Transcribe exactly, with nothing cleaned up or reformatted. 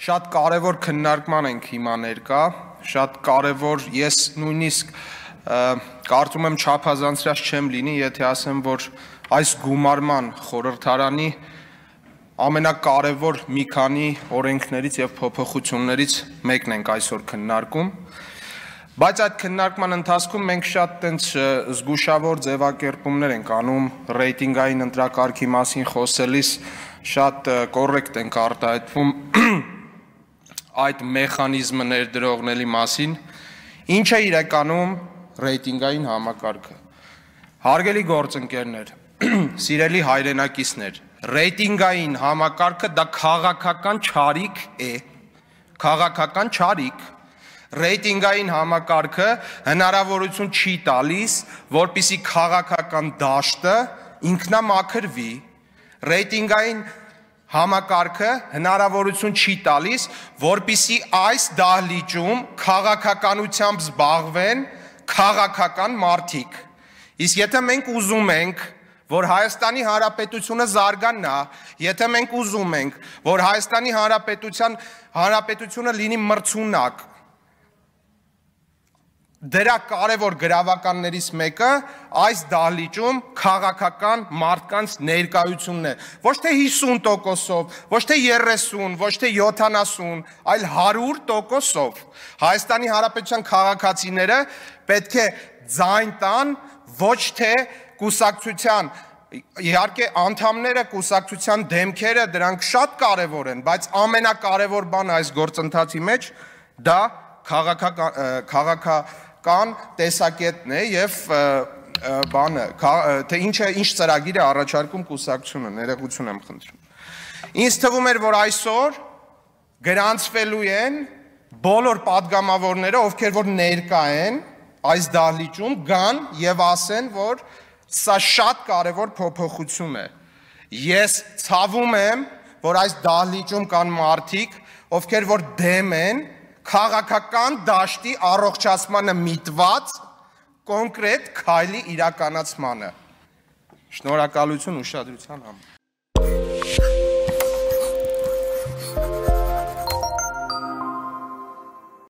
Շատ կարևոր քննարկման ենք հիմա ներկա, շատ կարևոր, ես նույնիսկ կարծում եմ չափազանցրած չեմ լինի, եթե ասեմ, որ այս գումարման խորհրդարանի ամենակարևոր մի քանի օրենքներից և փոփոխություններից մեկն ենք այսօր քննարկում, բայց այդ քննարկման ընթացքում մենք շատ տենց զգուշավոր ձևակերպումներ ենք անում ռեյտինգային ընտրակարգի մասին խոսելիս, շատ կոռեկտ ենք արտահայտվում այդ մեխանիզմը ներդրողների մասին, ինչ է իրականում ռեյտինգային համակարգը։ Հարգելի գործընկերներ, սիրելի հայրենակիցներ, ռեյտինգային համակարգը դա քաղաքական չարիք է, քաղաքական չարիք, ռեյտինգային համակարգը հնարավորություն չի տալիս, որպեսզի քաղաքական դաշտը ինքնամաքրվի, ռեյտինգային համակարգը հնարավորություն չի տալիս, որպեսզի այս դահլիճում քաղաքականությամբ զբաղվեն քաղաքական մարդիկ։ Իսկ եթե մենք ուզում ենք, որ Հայաստանի Հանրապետությունը զարգանա, եթե մենք ուզում ենք, որ Հայաստանի Հանրապետությունը լինի մրցունակ, դրա կարևոր գրավականներից մեկը այս դահլիճում քաղաքական մարդկանց ներկայությունն է, ոչ թե հիսուն տոկոսով, ոչ թե երեսուն, ոչ թե յոթանասուն, այլ հարյուր տոկոսով։ Հայաստանի Հանրապետության քաղաքացիները պետք է ձայն տան, ոչ թե կուսակցության, իհարկե անդամները, կուսակցության դեմքերը, դրանք շատ կարևոր են, բայց ամենակարևոր բանը այս գործընթացի մեջ դա քաղաքական տեսակետն է և բանը, թե ինչ ծրագիր է առաջարկում կուսակցությունը, ներողություն եմ խնդրում։ Ինձ թվում էր, որ այսօր գրանցվելու են բոլոր պատգամավորները, ովքեր որ ներկա են այս դահլիճում, գան և ասեն, որ սա շատ կարևոր փոփոխություն է։ Ես ցավում եմ, որ այս դահլիճում կան մարդիկ, ովքեր որ դեմ են քաղաքական դաշտի առողջացմանը միտված կոնկրետ քայլի իրականացմանը։ Շնորհակալություն ուշադրության համար։